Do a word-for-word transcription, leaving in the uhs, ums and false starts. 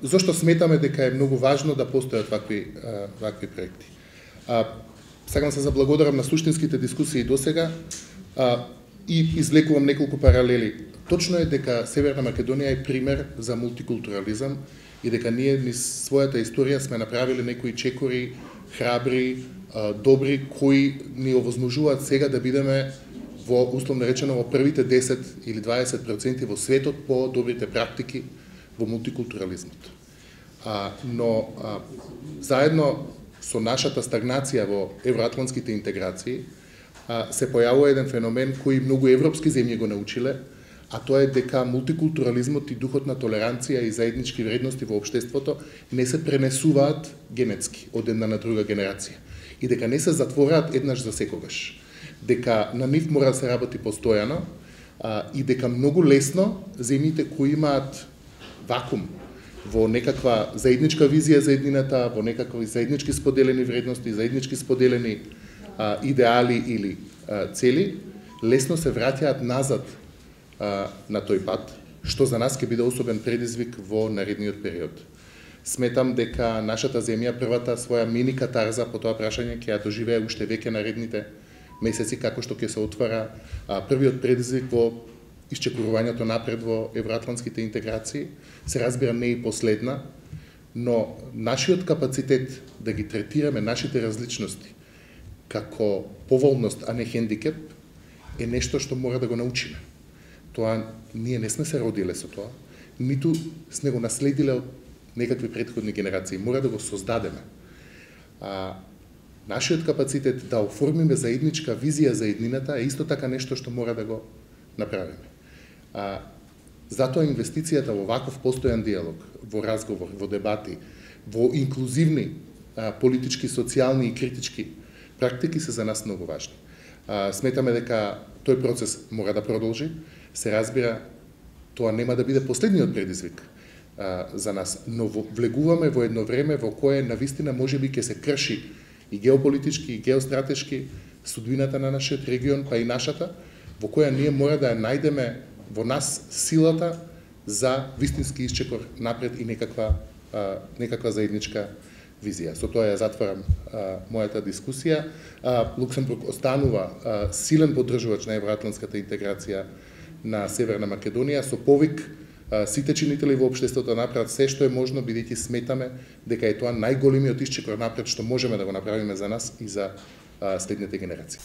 Зошто сметаме дека е многу важно да постојат вакви вакви проекти. Сакам се заблагодарам на суштинските дискусии досега и извлекувам неколку паралели. Точно е дека Северна Македонија е пример за мултикултурализам и дека ние низ својата историја сме направиле некои чекори, храбри, добри, кои ни овозможуваат сега да бидеме во, условно речено, во првите десет или дваесет проценти во светот по добрите практики во мултикултурализмот. А, но а, заедно со нашата стагнација во евроатлантските интеграции а, се појавува еден феномен кој многу европски земји го научиле, а тоа е дека мултикултурализмот и духот на толеранција и заеднички вредности во општеството не се пренесуваат генетски од една на друга генерација и дека не се затвораат еднаш за секогаш. Дека на нив мора да се работи постојано а, и дека многу лесно земјите кои имаат вакуум во некаква заедничка визија за еднината, во некакви заеднички споделени вредности, заеднички споделени а, идеали или а, цели, лесно се враќаат назад а, на тој пат, што за нас ќе биде особен предизвик во наредниот период. Сметам дека нашата земја првата своја мини катарза по тоа прашање ќе ја доживее уште веќе наредните месеци, како што ќе се отвара а, првиот предизвик во исчекорувањето напред во евроатлантските интеграции. Се разбира не и последна, но нашиот капацитет да ги третираме нашите различности како поволност, а не хендикеп, е нешто што мора да го научиме. Тоа ние не сме се родиле со тоа, ниту сме го наследиле од некакви претходни генерации. Мора да го создадеме. А, нашиот капацитет да оформиме заедничка визија за еднината е исто така нешто што мора да го направиме. А, затоа инвестицијата во ваков постојан диалог, во разговор, во дебати, во инклузивни а, политички, социјални и критички практики се за нас многу важни. А, сметаме дека тој процес мора да продолжи. Се разбира, тоа нема да биде последниот предизвик а, за нас, но во, влегуваме во едно време во кое навистина можеби ќе се крши и геополитички, и геостратешки судбината на нашиот регион, па и нашата, во која ние мора да ја најдеме во нас силата за вистински исчекор напред и некаква, а, некаква заедничка визија. Со тоа ја затварам а, мојата дискусија. А, Луксембург останува а, силен поддржувач на евроатлантската интеграција на Северна Македонија, со повик а, сите чинители во општеството да направат се што е можно, бидејќи сметаме дека е тоа најголемиот исчекор напред што можеме да го направиме за нас и за а, следните генерации.